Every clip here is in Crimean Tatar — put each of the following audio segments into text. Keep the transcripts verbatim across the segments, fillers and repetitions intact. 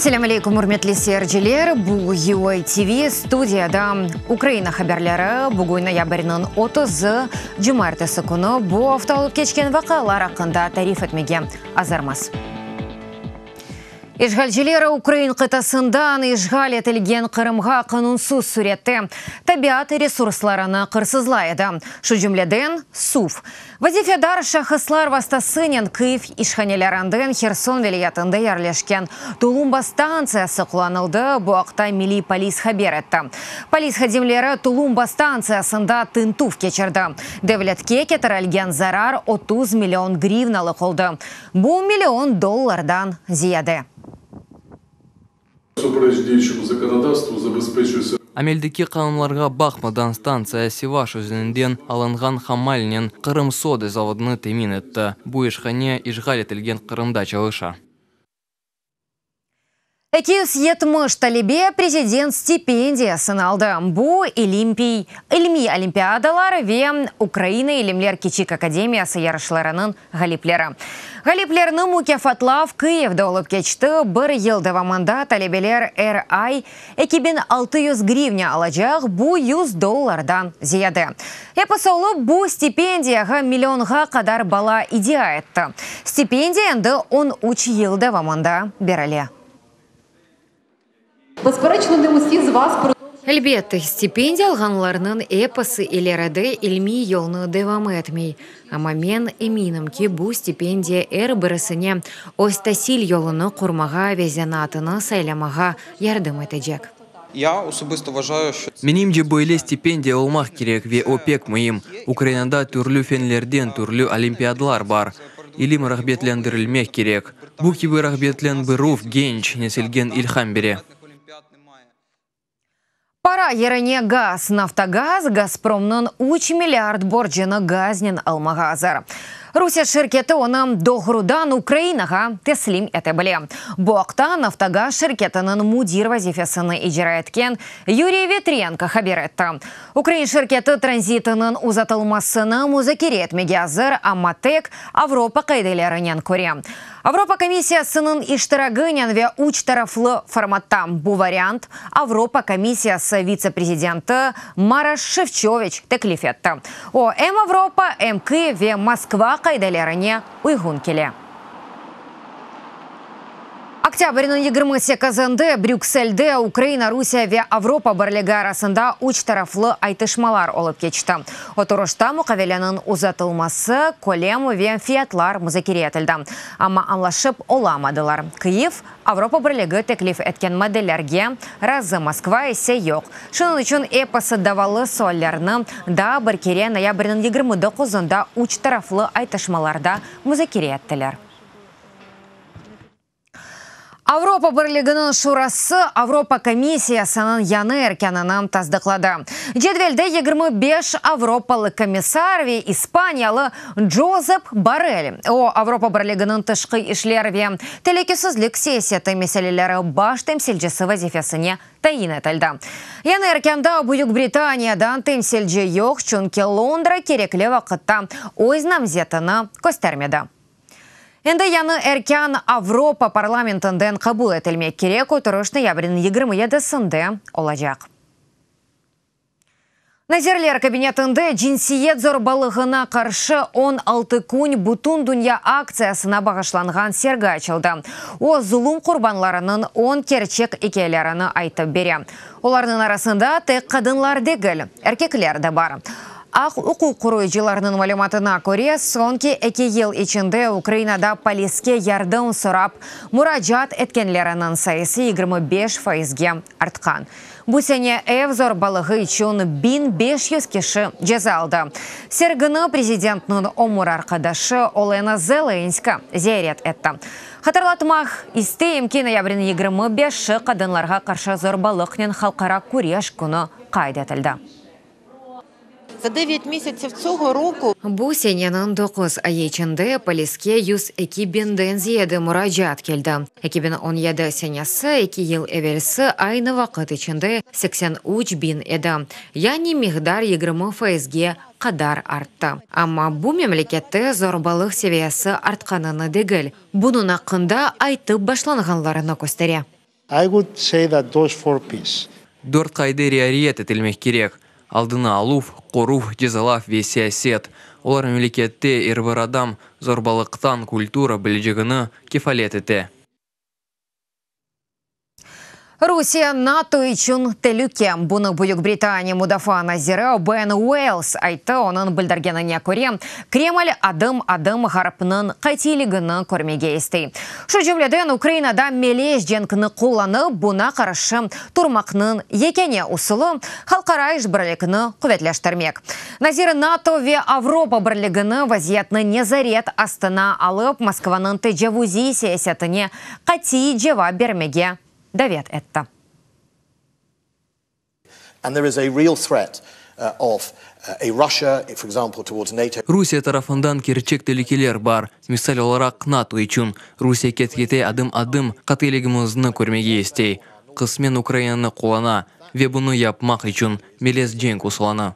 Selâm aleyküm, ürmetli seyirciler. Bu U A T V, studiyada Ukraina haberleri. Bugün noyabrniñ otuzı, cumaertesi künü. Bu afta olıp keçken vaqialar aqqında tarif etmege azırmız. İşğalciler ukrain qıtasından işğal etilgen Qırımğa qanunsız sürette tabiat resurslarını qırsızlay edi. Şu cümleden suv. Vazifedar şahıslar vastasınen Kyiv işhanelerinden Herson vilâyetinde yerleşken Tulumba stantsiyası qullanıldı. Bu aqta Milliy polis haber etti. Polis hadimleri Tulumba stantsiyasında tintüv keçirdi. Devletke ketirilgen zarar otuz million grivnalıq oldı. Bu million dollardan ziyade. Всупереч діючому законодавству забезпечується Ameldeki qanunlarğa baqmadan, stantsiya Sivaş özeninden alınğan hamalnen Qırım soda zavodını temin etti. Bu işhane işğal etilgen Qırımda çalışa. eki yüz yetmiş talebe prezident stipendiyasını aldı. Bu ilimpiy, ilmiy olimpiadalar ve Ukraina ilimler kiçik akademiyası yarışlarınıñ ğalipleri. Ğaliplerni mukâfatlav Kyivde olıp keçti. Bir yıl devamında talebeler er ay eki biñ altı yüz grivna alacaq, bu yüz dollardan ziyade. Episi olıp bu stipendiyağa millionğa qadar bala iddia etti. Stipendiya endi on üç yıl devamında berile. Безперечно, не усі з вас Elbette, stipendiya alğanlarnıñ episi ileride ilmiy yolnı devam etmey. Amma men eminim ki, bu stipendiya er birisine öz tasil yolunı qurmağa ve zenaatını saylamağa yardım etecek. Я особисто вважаю, що Menimce, böyle stipendiya olmaq kerek ve o pek müim. Ukrainada türlü fenlerden türlü olimpiadalar bar. İlim rağbetlendirilmek kerek. Bu kibi rağbetlendirüv genç nesilge ilham bere. Олімпіад немає. Para yerine gaz. Naftogaz Gazpromnıñ üç milliard borcunı gaznen almağa azır. Rusiye şirketi onı doğrudan Ukrainağa teslim ete bile. Bu aqta Naftogaz şirketiniñ müdir vazifesini icra etken Yuriy Vitrenko haber etti. Ukrain şirketi tranzitiniñ uzatılmasını muzakere etmege azır, amma tek Avropa qaidelerine köre. Avropa komissiyasınıñ iştiraginen ve üç taraflı formatta. Bu variant Avropa komissiyası vitse-prezidenti Maroş Şefçoviç teklif etti. O, em Avropa, em Kyiv ve Moskva qaidelerine uyğun kele. Oktâbrniñ yigirmi sekizinde Brükselde Ukraina, Rusiye ve Avropa Birligi arasında üç taraflı aytışmalar olıp keçti. Oturışta muqaveleniñ uzatılması, kölem ve fiyatlar muzakere etildi. Amma añlaşıp olamadılar. Kyiv Avropa Birligi teklif etken maddelerge razı, Moskva ise yoq. Şunıñ içün episi davalı suallerni daa bir kere noyabrniñ yigirmi doquzında üç taraflı aytışmalarda muzakere ettiler. Avropa Birliginiñ Şurası Avropa Komissiyasınıñ yañı erkânını tasdıqladı. Cedvelde yigirmi beş avropalı komissar ve ispaniyalı Josep Borrell. O, Avropa Birliginiñ tışqı işler ve telükesizlik siyaseti meseleleri baş temsilcisi vazifesine tayin etildi. Yañı erkânda Büyük Britaniyadan temsilci yoq, çünki Londra kerekli vaqıtta öz namzetini köstermedi. Endi yañı erkân Avropa parlamentinden qabul etilmek kerek, oturış noyabrniñ yigirmi yedisinde olacaq. Nazirler kabinetinde cinsiyet zorbalığına qarşı on altı kün bütün dünya aktsiyasına bağışlanğan sergi açıldı. O, zulum qurbanlarınıñ on kerçek ikâyelerini aytıp bere. Olarnıñ arasında tek qadınlar degil, erkekler de bar. Aq-uquq qoruyıcılarnıñ malümatına köre, soñki eki yıl içinde Ukrainada poliske yardım sorap muracaat etkenleriniñ sayısı yigirmi beş faizge artqan. Bu sene ev zorbalığı içün biñ beş yüz kişi ceza aldı. Sergini prezidentniñ ömür arqadaşı Olena Zelenska ziyaret etti. Hatırlatmaq isteyim ki, noyabrniñ yigirmi beşi qadınlarğa qarşı zorbalıqnen halqara küreş künü qayd etildi. За дев'ять місяців цього року Bu seneniñ doquz ayı içinde poliske yüz eki biñden ziyade muracaat keldi. eki biñ on yedi senesi, eki yıl evelsi aynı vaqıt içinde seksen üç biñ edi. Yani miqdar yigirmi faizge qadar arttı. Amma bu memlekette zorbalıq seviyesi artqanını degil, bunıñ aqqında aytıp başlağanlarını köstere. I would say that those four P's. Dört qaide riayet etilmek kerek: aldını aluv, qoruv, cezalav ve siyaset. Olar memlekette er bir adam zorbalıqtan qurtula bilecegini kefalet ete. Rusiye NATO içün telüke. Bunı Büyük Britaniya mudafaa naziri Ben Uolles ayttı. Onıñ bildirgenine köre, Kreml adım-adım Ğarpnıñ qatiyligini körmege istey. Şu cümleden Ukrainada melez cenkni qullanıp, buña qarşı turmaqnıñ yekâne usulı halqara işbirlikni quvetleştirmek. Nazir NATO ve Avropa Birligini vaziyetni nezaret astına alıp, Moskvanıñ tecavuziy siyasetine qatiy cevap bermege davet etti. And there is a real threat uh, of uh, a Russia, for example, towards NATO. Rusiye tarafından kerçek telükeler bar. Misal olaraq, NATO içün. Rusiye ket-kete adım-adım qatiyligimizni körmege istey. Qısmen Ukrainanı qullana ve bunı yapmaq içün melez cenk usulını.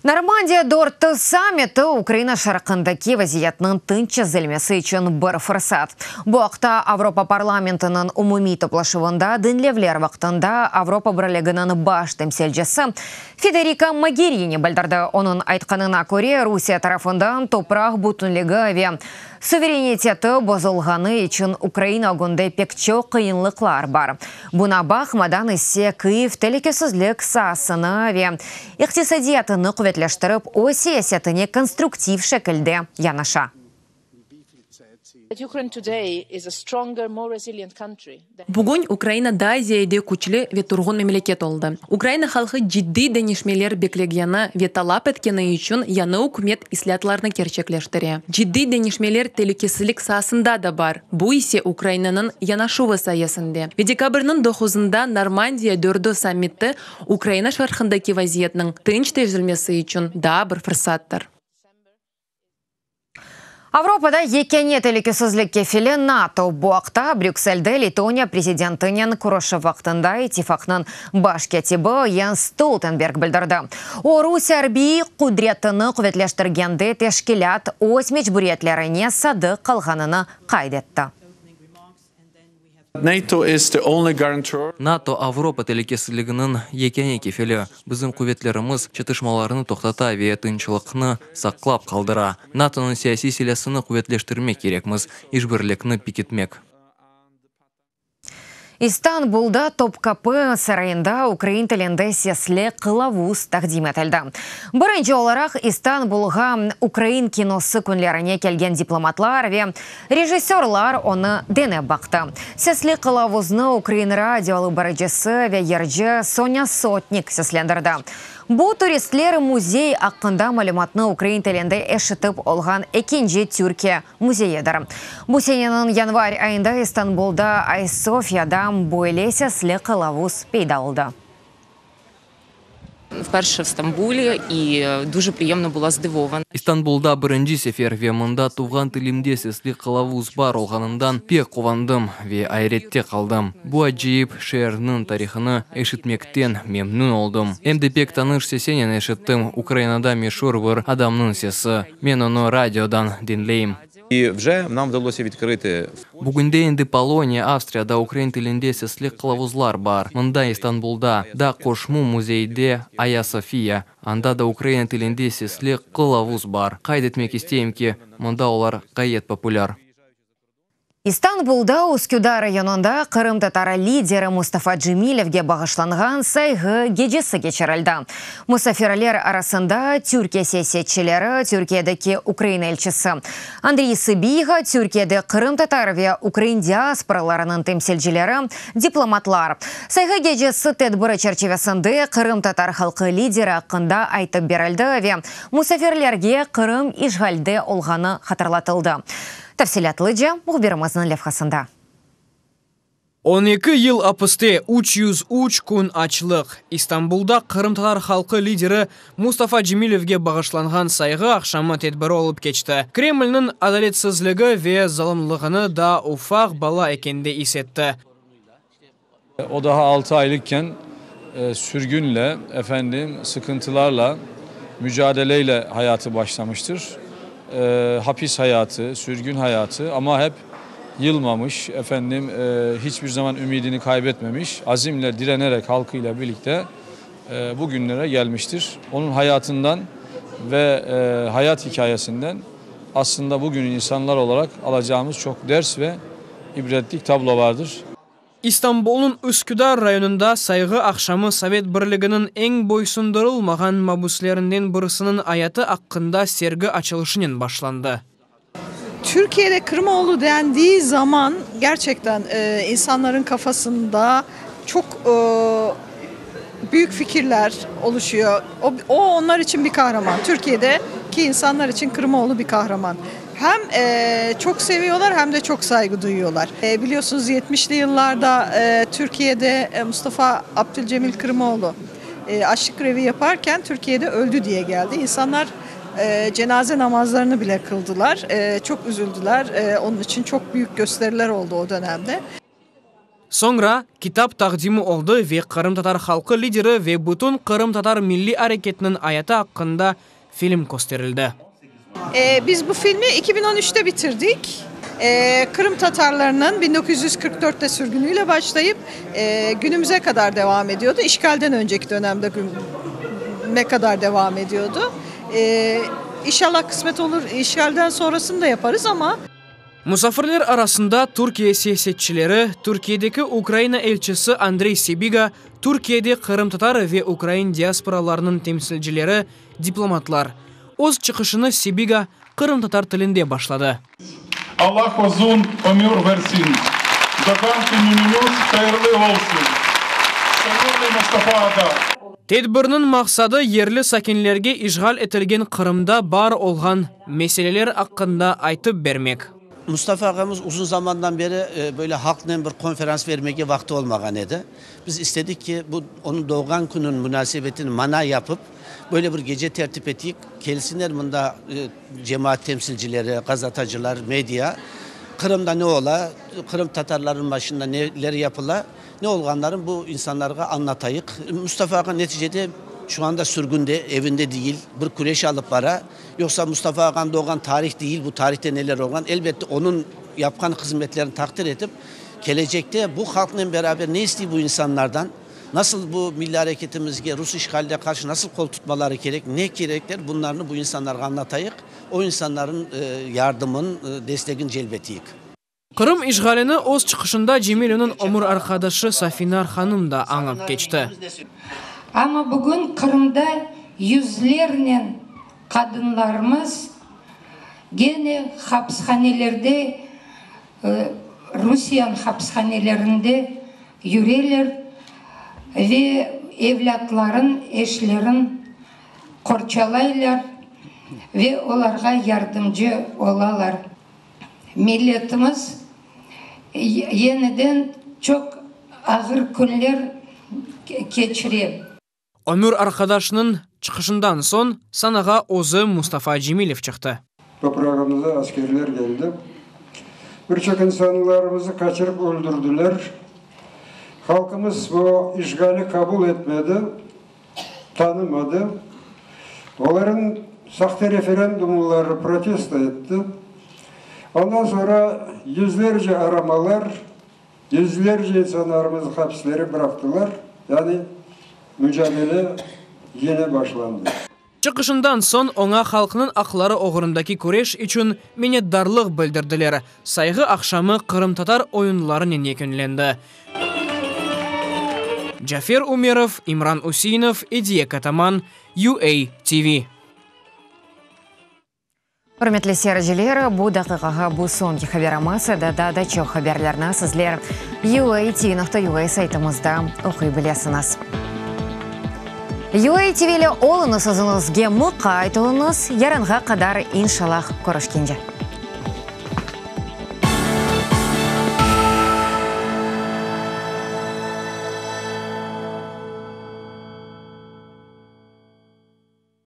Normandiya dört sammiti Ukraina şarqındaki vaziyetniñ tınç çezilmesi içün bir fırsat. Bu aqta Avropa parlamentiniñ umumiy toplaşuvında diñlevler vaqtında Avropa Birliginiñ baş temsilcisi Federika Mogherini bildirdi. Onıñ aytqanına köre, Rusiye tarafından topraq bütünligi ve suvereniteti bozulğanı içün Ukraina ögünde pek çoq qıyınlıqlar bar. Buña baqmadan ise Kyiv telükesizlik saasını ve iqtisadiyatını quvetleştirip, öz siyasetine konstruktiv şekilde yanaşa. That Ukraine today is a stronger, more resilient country. Bugün Ukraina daa ziyade küçlü ve turğun memleket oldı. Ukraina halqı ciddiy deñişmeler beklegeni ve talap etkeni içün yañı ükümet islâatlarnı kerçekleştire. Ciddiy deñişmeler telükesizlik saasında da bar. Bu ise Ukrainanıñ yanaşuvı sayesinde. Ve dekabrniñ doquzında Normandiya dördü sammiti Ukraina şarqındaki vaziyetniñ tınç çezilmesi içün daa bir fırsattır. Avropada yekâne telükesizlik kefili NATO. Bu aqta Brükselde Letoniya prezidentinen körüşüv vaqtında ittifaqnıñ baş kâtibi Jens Stoltenberg bildirdi. O, Rusiye arbiy qudretini quvetleştirgende teşkilât öz mecburiyetlerine sadıq qalğanını qayd etti. NATO is the only guarantor. NATO Avropa telükesizliginiñ yekâne kefili. Bizim quvetlerimiz çatışmalarnı toqtata ve tınçlıqnı saqlap qaldıra. NATOnıñ siyasiy silâsını quvetleştirmek kerekmiz, işbirlikni pekitmek. İstanbulda Topkapı sarayında ukrain tilinde sesli qılavuz taqdim etildi. Birinci olaraq İstanbulğa ukrain kinosı künlerine kelgen diplomatlar ve rejissörlar onı denep baqtı. Sesli qılavuznı ukrain radio alıp barıcısı ve yırcı Sonya Sotnik seslendirdi. Bu turistler müzey aqqında malümatnı ukrain tilinde eşitip olğan ekinci Türkiye müzeyidir. Bu seneniñ yanvar ayında İstanbulda Ayasofyada böyle sesli qılavuz peyda oldı. Вперше в Стамбулі і дуже приємно була здивована. İstanbulda birinci sefer ve mında tuvğan tilimde sesli qılavuz bar olğanından pek quvandım ve ayrette qaldım. Bu acayip şeerniñ tarihını eşitmekten memnün oldım. Em de pek tanış sesnen eşittim, Ukrainada meşur bir adamnıñ sesi. Men onı radiodan diñleyim. І вже нам вдалося відкрити Bugünde endi Poloniya, Avstriyada ukrain tilinde sesli qılavuzlar bar. Mında İstanbulda da qoşma müzeyde Aya Sofiya, anda da ukrain tilinde sesli qılavuz bar. Qayd etmek isteyim ki, mında olar ğayet populâr. İstanbulda Üsküdar rayonında qırımtatar lideri Mustafa Cemilevge bağışlanğan sayğı gecesi keçirildi. Musafirler arasında Türkiye siyasetçileri, Türkiyedeki Ukraina elçisi Andriy Sıbiğa, Türkiyede qırımtatar ve ukrain diasporalarınıñ temsilcileri, diplomatlar. Sayğı gecesi tedbiri çerçivesinde qırımtatar halqı lideri aqqında aytıp berildi ve musafirlerge Qırım işğalde olğanı hatırlatıldı. Tafsilâtlıca mühbirimizniñ levhasında. on eki yıl apiste, üç yüz üç kün açlıq. İstanbulda qırımtatar halqı lideri Mustafa Cemilevge bağışlanğan sayğı aqşamı tedbiri olıp keçti. Kremlniñ adaletsizligi ve zalımlığını daa ufaq bala ekende is etti. O daha altı aylıkken e, sürgünle, efendim sıkıntılarla, mücadeleyle hayatı başlamıştır. E, hapis hayatı, sürgün hayatı ama hep Yılmamış, efendim e, hiçbir zaman ümidini kaybetmemiş, azimle direnerek halkıyla birlikte e, bugünlere gelmiştir. Onun hayatından ve e, hayat hikayesinden aslında bugün insanlar olarak alacağımız çok ders ve ibretlik tablo vardır. İstanbulnıñ Üsküdar rayonında sayğı aqşamı Sovet Birliginiñ eñ boysundırılmağan mabüslerinden birisiniñ ayatı aqqında sergi açılışınen başlandı. Türkiye'de Kırımoğlu dendiği zaman gerçekten e, insanların kafasında çok e, büyük fikirler oluşuyor. O, o onlar için bir kahraman. Türkiye'deki insanlar için Kırımoğlu bir kahraman. Hem e, çok seviyorlar hem de çok saygı duyuyorlar. E, biliyorsunuz yetmişli yıllarda e, Türkiye'de e, Mustafa Abdülcemil Kırımoğlu e, açlık grevi yaparken Türkiye'de öldü diye geldi. İnsanlar e, cenaze namazlarını bile kıldılar. E, çok üzüldüler. E, onun için çok büyük gösteriler oldu o dönemde. Soñra kitap taqdimi oldı ve qırımtatar halqı lideri ve bütün qırımtatar milliy areketiniñ ayatı aqqında film kösterildi. Ee, biz bu filmi iki bin on üçte bitirdik. Ee, Kırım Tatarlarının bin dokuz yüz kırk dörtte sürgünüyle başlayıp e, günümüze kadar devam ediyordu. İşgalden önceki dönemde ne kadar devam ediyordu. Ee, inşallah kısmet olur, işgalden sonrasını da yaparız ama Musafirler arasında Türkiye siyasetçileri, Türkiyedeki Ukraina elçisi Andrey Sibiga, Türkiyede qırımtatar ve ukrain diasporalarınıñ temsilcileri, diplomatlar. Öz çıqışını Sibiga qırımtatar tilinde başladı. Allah uzun ömür versin. Doğğan künüñiz hayırlı olsun. Sevimli Mustafa ağa. Tedbirniñ maqsadı yerli sakinlerge işğal etilgen Qırımda bar olğan meseleler aqqında aytıp bermek. Mustafa ağamız uzun zamandan beri e, böyle halqnen bir konferans vermege vaqtı olmağan edi. Biz istedik ki bu onıñ doğğan kününiñ munasebetini mana yapıp böyle bir gece tertip ettik. Kelsinler mında e, cemaat temsilcileri, gazeteciler, medya. Qırımda ne ola, Qırım tatarlarınıñ başında neler yapıla, ne olğanların bu insanlarğa añlatayıq. Mustafa ağa neticede şu anda sürgünde, evinde değil, bir küreş alıp bara. Yoksa Mustafa ağanıñ doğğan tarih değil, bu tarihte neler olğan. Elbette onıñ yapqan hızmetlerini taqdir etip, kelecekte bu halqnen beraber ne istey bu insanlardan, nasıl bu milliy areketimizge Rus işğaline qarşı nasıl qol tutmaları kerek, ne kerekler, bunlarnı bu insanlarğa añlatayıq, o insanların e, yardımın, e, destegin celp eteyik. Qırım işğalini öz çıqışında Cemilevniñ ömür arqadaşı Safinar hanım da añıp keçti. Amma bugün Qırımda yüzlernen qadınlarımız gene hapishanelerde, e, Rusiyeniñ hapishanelerinde yüreler ve evlâtların, eşlerin qorçalaylar ve olarğa yardımcı olalar. Milletimiz yeniden çoq ağır künler keçire. Ömür arqadaşınıñ çıqışından soñ sanağa özü Mustafa Cemilev çıqtı. Toprağımıza askerler geldi. Birçok insanlarımızı kaçırıp öldürdüler. Halkımız bu işgali kabul etmedi, tanımadı. Onların sahte referandumları protesto etti. Ondan sonra yüzlerce aramalar, yüzlerce insanlarımızı hapislere bıraktılar. Yani mücadele yine başlandı. Çıqışından soñ oña halqnıñ aqları oğrundaki küreş içün minnetdarlıq bildirdiler. Sayğı aqşamı qırımtatar oyunlarınen yekünlendi. Cafer Umerov, İmran Useinov, Ediye Kataman, U A T V. Ürmetli seyirciler, bu daqiqağa bu soñki haberimiz. Daa da çoq haberlerni sizler U A T V nokta U A saytımızda oquy bilesiñiz. U A T V ile oluñız, özüñizge muqayt oluñız. Yarınğa qadar inşallah körüşkence.